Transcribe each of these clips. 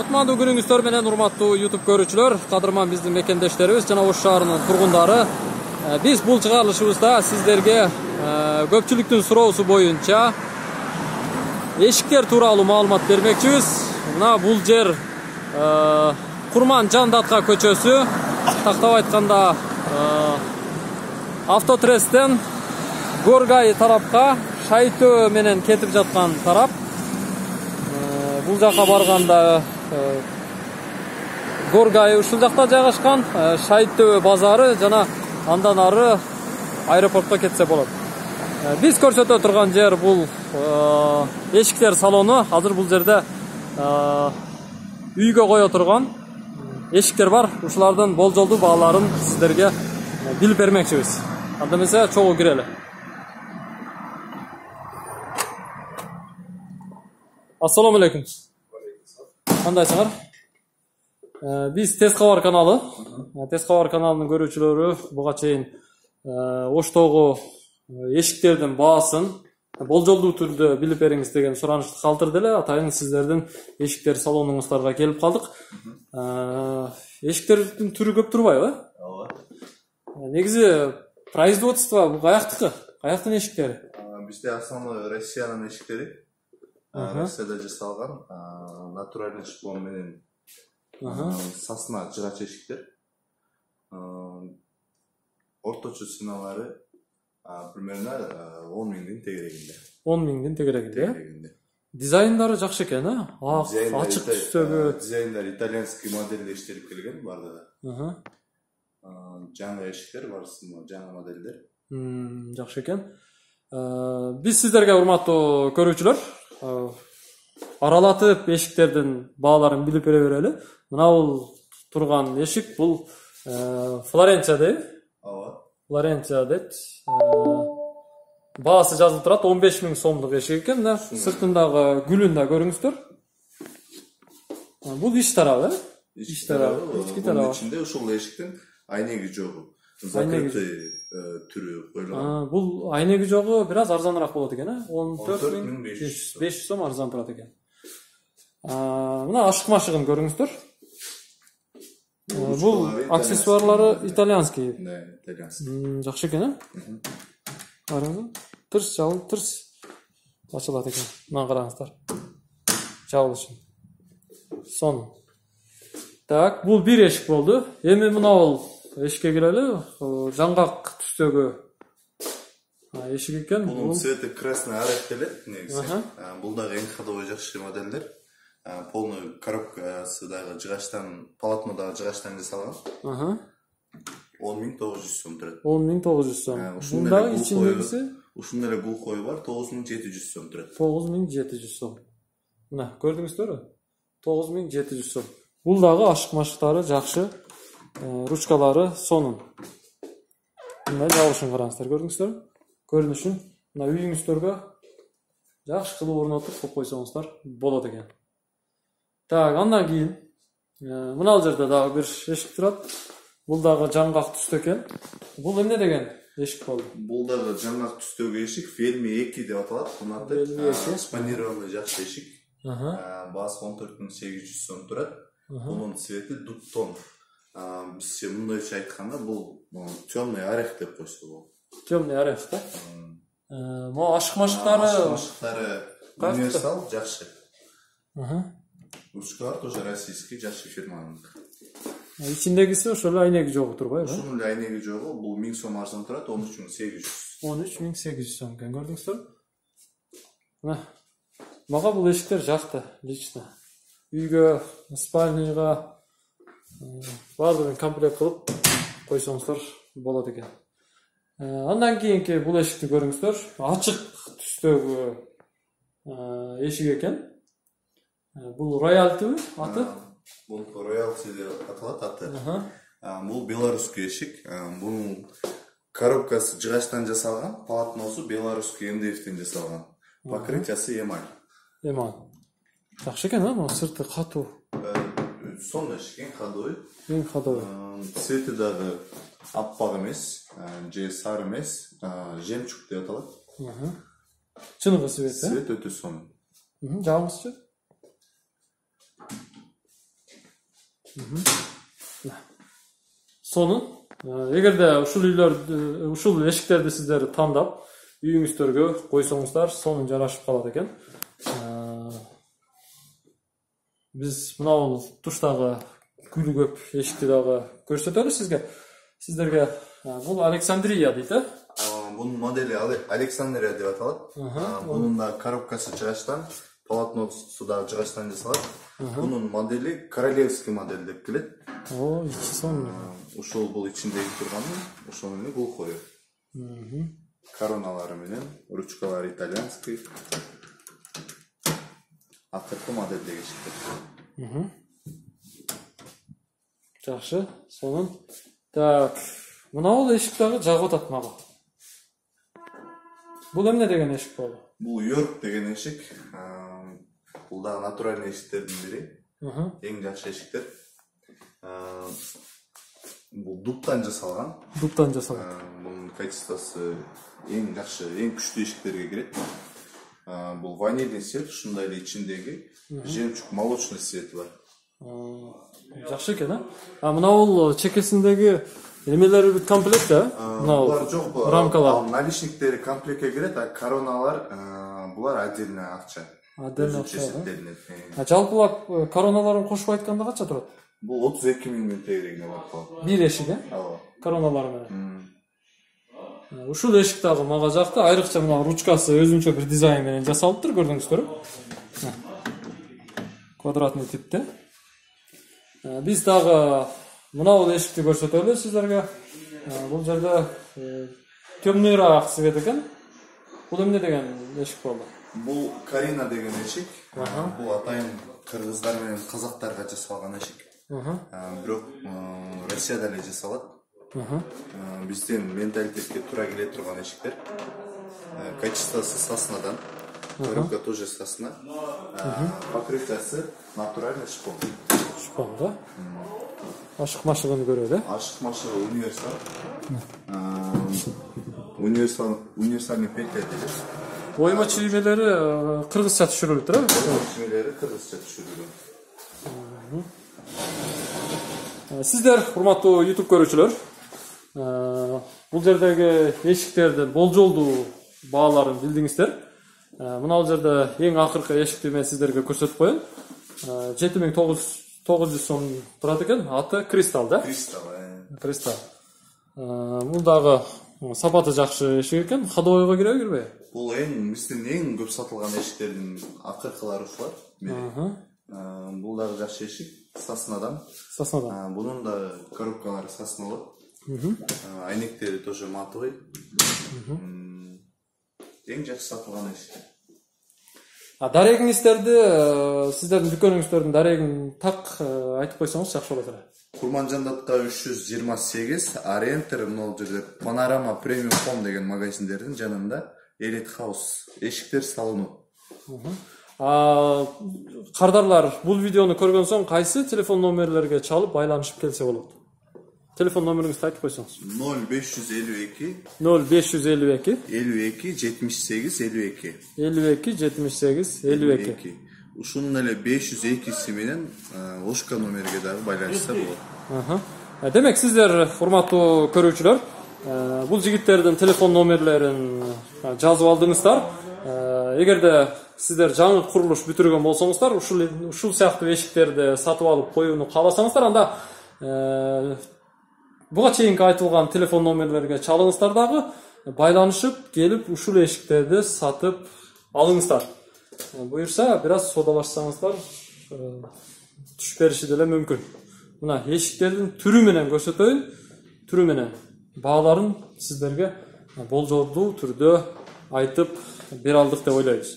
Кутмандуу күнүңүздөр менен урматтуу YouTube көрүүчүлөр, кадырман биздин мекендештерибиз жана Ош шаарынын тургундары. Биз бул чыгарылышыбызда сиздерге көпчүлүктүн суроосу боюнча эшиктер тууралуу маалымат бермекчибиз. Мына бул жер Курман Жандатка көчөсү, тактап айтканда Автотрестен Горгай тарапка Шайтөө менен кетип жаткан тарап. Бул жака барганда Горгай ушул жакта жайгашкан, Шайтөө базары жана андан ары аэропортко кетсе болот. Биз көрсөтө турган жер бул эшиктер салону. Азыр бул жерде үйгө кое турган эшиктер бар. Ушулардын болжолдуу бааларын сиздерге билип бермекчибиз. Анда эмесе чогуу кирели. Ассаламу алейкум. Кандайсыңар? Биз Тез кабар каналы. Тез кабар каналынын көрүүчүлөрү буга чейин Оштогу эшиктердин баасын болжолдуу түрдө билип бериңиз деген суранычты калтырды эле. Атайын сиздердин эшиктер салонуңуздарга келип калдык. Эшиктердин түрү көп турбайбы? Ооба. Негизи производство бул каяктыкы? Каяктын эшиктери? Бизде основной Россиянын эшиктери. Россияда жасалган натуральный шпон менен сасна жыгач эшиктер. Орточо ценалары примерно 10 миңдин тегерегинде. 10 миңдин тегерегинде. Дизайндары жакшы экен, ачык түстөгү. Дизайндар итальянский модельде иштелип келген бардыгы. Жаңы эшиктер барысында жаңы модельдер. Жакшы экен. Биз сиздерге урматтуу көрүүчүлөр аралатып эшиктердин бааларын билип бере берели. Мына бул турган эшик бул Флоренция дейби? Ооба. Флоренция дейт. Баасы жазылып турат, 15 миң сомдук эшик экен да. Сыртындагы гүлүн да көрүңүздөр. Бул ич тарабы, ич тарабы, ички тарабы. Ичинде ушул эшиктин айнеги жогу. Закрытый түрү коюлган. Бул айнеги жогу бир аз арзаныраак болот экен, 14.500 сом арзан турат экен. Мына ашык машыгын көрүңүздөр. Бул аксессуарлары итальянский. Да, итальянский. Жакшы экен, Караңыз. Тырс жабылып, тырс ачылат экен. Мына караңыздар. Жабылышын. Сон. Так, бул бир эшик болду. Эми мына бул эшикке кирели. Жаңгак түстөгү эшик экен. Бул цвети красный арақ делет негизи. Бул дагы эң ходовой жакшы модельдер. Полный коробкасы дагы жыгачтан, полотнодагы жыгачтан жасалган. 10.900 сом турат. 10.900 сом. Бундагы ичиндегиси ушундай эле глухой бар, 9.700 сом турат. 9.700 сом. Мына көрдүңүздөрбү? 9.700 сом. Бул дагы ашык машыктары жакшы. Ручкалары сонун. Мына жабылышын караңыздар, көрдүңүздөрбү? Көрүнүшүн мына үйүңүздөргө жакшы кылып орнотуп коюп койсоңуздар болот экен. Так, андан кийин мына жерде дагы бир эшик турат. Бул дагы жаңгак түстө экен. Бул эмне деген эшик болду? Бул дагы жаңгак түстөгү эшик, Фельми 2 деп аталат. Мындай спанированный жакшы эшик. Баасы 14.800 сом турат. Бунун цвети дуптон. Бизче мындайча айтканда бул темный орех деп койсо болот. Темный орех да? Могу ашык машыктары универсал жакшы. Ручкалар тоже российский, жакшы фирманын. Ичиндегиси ошол эле айнеги жогу турбайбы? Ошонун эле айнеги жогу, бул 1000 сом арзан турат, 13.800. 13.800 сом экен, көрдүңүздөр? Мына мага бул эшиктер жакты, лично. Үйгө, спальныйга баардыгын комплект кылып койсоңуздар болот экен. Андан кийинки бул эшикти көрүңүздөр. Ачык түстөгү эшик экен. Бул роялтыбы аты? Бул роялти деп аталат аты. Бул белорусский эшик. Бунун коробкасы жыгачтан жасалган, полотносу белорусский МДФтен жасалган. Покрытиясы эмаль. Эмаль. Жакшы экен, бул сырты катуу. Сонун эшик, эң ходовой. Эң ходовой. Цвети дагы аппак эмес, же сары эмес, жемчуг деп аталат. Чыныгы цвет, Цвет өтө сонун. Жабыңызчы. Сонун. Эгерде ушул эшиктерди сиздер тандап үйүңүздөргө койсоңуздар, сонун жарашып калат экен. Биз мынау туштагы гүлү көп эшикти дагы көрсөтөлү сиздерге. Бул Александрия дейт, э? Бунун модели Александрия деп аталат. Бунун да коробкасы жыгачтан, полотносу да жыгачтан жасалат. Бунун модели королевский модель деп келет. Ичи сонун. Ушул бул ичиндеги турганы, ошол менен глухой. Короналары менен, ручкалары итальянский. Акыркы модельдеги эшиктер. Жакшы, сонун. Так, мынау эшик дагы жагып атат мага. Бул эмне деген эшик болду? Бул Йорк деген эшик. Бул дагы натуральный эшиктердин бири. Эң жакшы эшиктер. Бул дубтан жасалган. Дубтан жасалган. Бунун качествосы эң жакшы, эң күчтүү эшиктерге кирет. Бул ванильный цвет, ушундай эле ичиндеги жемчуг молочный цвети бар. Жакшы экен, а? Мынау чекесиндеги эмелери бүт комплект, да? Булар жок, рамкалар. Наличниктери комплектке кирет, а короналар булар отдельно акча. Отдельно акча. Жалпылап короналарын кошуп айтканда канча турат? Бул 32 000 тегерегине барып калат. Бир эшик, э? Ооба. Короналары менен. Ушул эшик дагы мага жакты. Айрыкча мына ручкасы өзүнчө бир дизайн менен жасалыптыр, көрдүңүздөрбү? Квадратный типте. Биз дагы мынау эшикти көрсөтөлү сиздерге. Бул жерде темныйраак цвет экен. Бул эмне деген эшик болду? Бул Карина деген эшик. Бул атайын кыргыздар менен казактарга жасалган эшик. Бирок Россияда эле жасалат. Биздин менталитетке туура келе турган эшиктер. Качествосы соснадан. Коробка тоже сосна. Покрытиясы натуральный шпон. Шпон, да? Ашык машыгын көрөт, э? Ашык машыгы универсальный петля дейт. Ойма чиймелери кыргызча түшүрүлүптүр, э? Чиймелери кыргызча түшүрүлгөн. Сиздер, урматтуу YouTube көрүүчүлөр, бул жердеги эшиктердин болжолдуу бааларын билдиңиздер. Мына бул жерде эң акыркы эшикти мен сиздерге көрсөтүп коеюн. 7900 сом турат экен. Аты Кристал, да? Кристал. Бул дагы сапаты жакшы эшик экен. Ходовойго киреби, кирбейби? Бул биздин эң көп сатылган эшиктердин акыркылары ушулар. Бул дагы жакшы эшик, соснадан. Бунун да коробкалары соснолуу. Айнектери тоже матовый. Эң жакшы сатылган эшик. Дарегиңиздерди, сиздердин дүкөнүңүздөрдүн дарегин так айтып койсоңуз жакшы болот эле. Курманжандатка 328, Арентер, могул жерде Панорама Премиум Home деген магазиндердин жанында Elite House эшиктер салыну. Кардарлар, бул видеону көргөн соң кайсы телефон номерлерге чалып байланышып келсе болот? Телефон номериңизди айтып койсоңуз. 0552 0552 52 78 52 52 78 52. Ушунун эле 502 менен Ошка номерге дагы байланышса болот. Демек, сиздер, урматтуу көрүүчүлөр, бул жигиттердин телефон номерлерин жазып алдыңыздар. Эгерде сиздер жаңы курулуш бүтүргөн болсоңуздар, ушул сыяктуу эшиктерди сатып алып коюуну кааласаңыздар, анда буга чейинки айтылган телефон номерлерге чалыңыздар дагы, байланышып келип ушул эшиктерди сатып алыңыздар. Буюрса, бир аз содалашсаңыздар, түшүп бериши деле мүмкүн. Мына эшиктердин түрү менен көрсөтөйүн, түрү менен бааларын сиздерге болжолдуу түрдө айтып бере алдык деп ойлойбуз.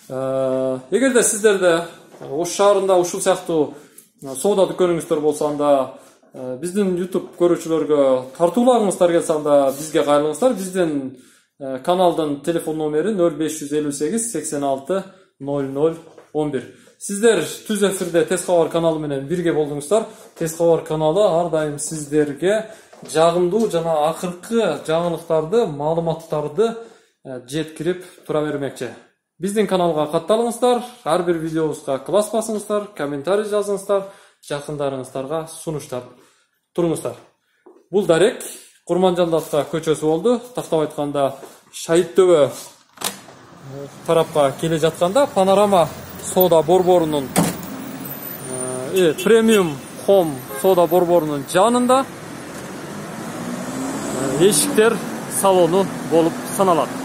Эгерде сиздерде Ош шаарында ушул сыяктуу соода дүкөнүңүздөр болсо, анда биздин YouTube көрүүчүлөргө тартууларыңыздар келсе, анда бизге кайрылыңыздар. Биздин каналдын телефон номери 0558 86 0011. Сиздер түз эфирде Тез кабар каналы менен бирге болдуңуздар. Тез кабар каналы ар дайым сиздерге жагымдуу жана акыркы жаңылыктарды, маалыматтарды жеткирип тура бермекчи. Биздин каналга катталыңыздар, ар бир видеобузга класс басыңыздар, комментарий жазыңыздар. жакындарыңыздарга сунуштап туруңуздар. Бул дарек Курманжан Датка көчөсү болду. Тактап айтканда Шайыт Төбө тарапка келе жатканда Панорама соода борборунун премиум хом соода борборунун жанында эшиктер салону болуп саналат.